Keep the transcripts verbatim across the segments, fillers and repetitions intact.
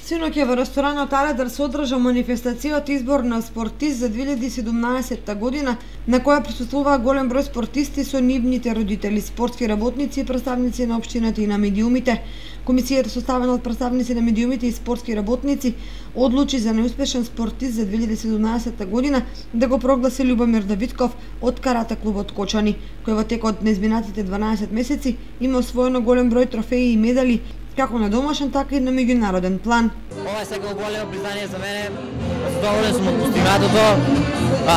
Синоќа во ресторанот Аледар се одржа манифестацијата избор на спортист за две илјади и седумнаесетта година, на која присуствуваа голем број спортисти со нивните родители, спортски работници и представници на општината и на медиумите. Комисијата, составена од представници на медиумите и спортски работници, одлучи за неуспешен спортист за две илјади и седумнаесетта година да го прогласи Љубомир Давидков од карате клубот Кочани, кој во текот на изминатите дванаесет месеци има освоено голем број трофеи и медали, како на домашен, така и на меѓународен план. Ова е сега големо признание за мене. Задоволен сум од постигнатото.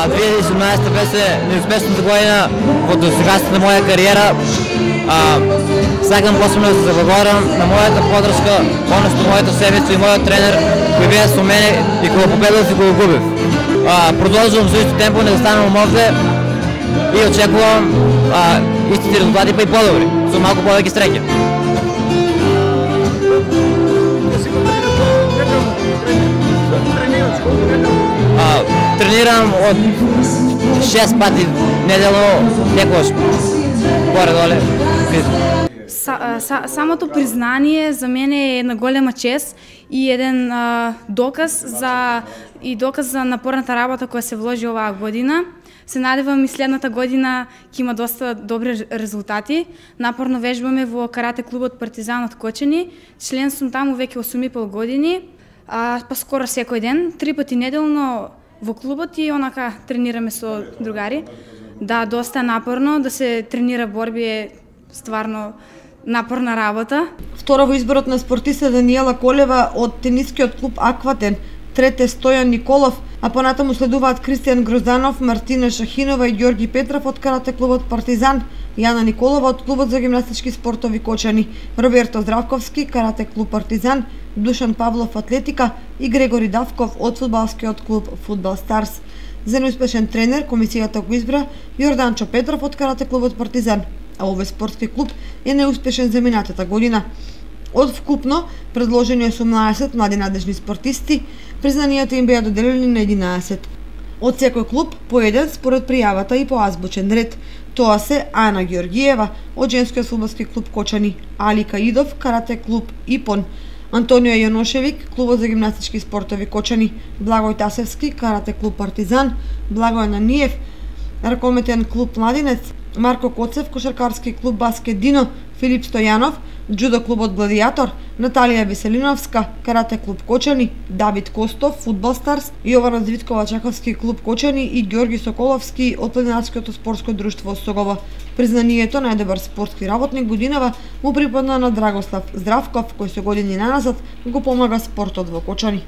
две илјади и седумнаесетта беше неуспешната година во досегашната на моја кариера. А, сакам посебно да се заблагодарам на мојата подршка, односно моето семејство и мојот тренер кои беа со мене и кога победив и кога губив. А, продолжувам со исто темпо, не да станам овде и очекувам а, истите резултати, па и подобри, со малку повеќе среќа. А, тренирам од шест пати неделно, некојаш горе-доле. Са, са, самото признание за мене е една голема чест и еден а, доказ за и доказ за напорната работа која се вложи оваа година. Се надевам и следната година ќе има доста добри резултати. Напорно вежбаме во карате клубот Партизан од Кочани. Член сум таму веќе осум и пол години, а, па скоро секој ден, три пати неделно во клубот и онака тренираме со другари. Да, доста напорно, да се тренира борби е стварно напорна работа. Втора во изборот на спортиста Даниела Колева од тенискиот клуб Акватен, трете Стојан Николов, а понатаму следуваат Кристијан Грозданов, Мартина Шахинова и Ѓорги Петров од карате клубот Партизан, Јана Николова од клубот за гимнастички спортови Кочани, Роберто Здравковски, карате клуб Партизан, Душан Павлов атлетика и Грегори Давков од фудбалскиот клуб Фудбал Старс. За неуспешен тренер комисијата го избра Јорданчо Петров од карате клубот Партизан, а овој спортски клуб е неуспешен за минатата година. Од вкупно предложени осумнаесет млади надежни спортисти, признанијата им беа доделени на единаесет. Од секој клуб по еден според пријавата и по азбучен ред. Тоа се Ана Ѓоргиева од женскиот фудбалски клуб Кочани, Али Каидов, карате клуб Ипон, Антонио Јаношевик, клубот за гимнастички спортови Кочани, Благој Тасевски, карате клуб Партизан, Благој Наниев, ракометен клуб Младинец, Марко Коцев, кошаркарски клуб Баскет Дино, Филип Стојанов, џудо клубот Гладијатор, Наталија Веселиновска, карате клуб Кочани, Давид Костов, Фудбал Старс, Јована Звиткова, Чаковски клуб Кочани и Ѓорги Соколовски од Планинарското спортско друштво Согово. Признанието најдобар спортски работник годинава му припадна на Драгослав Здравков, кој со години наназад го помага спортот во Кочани.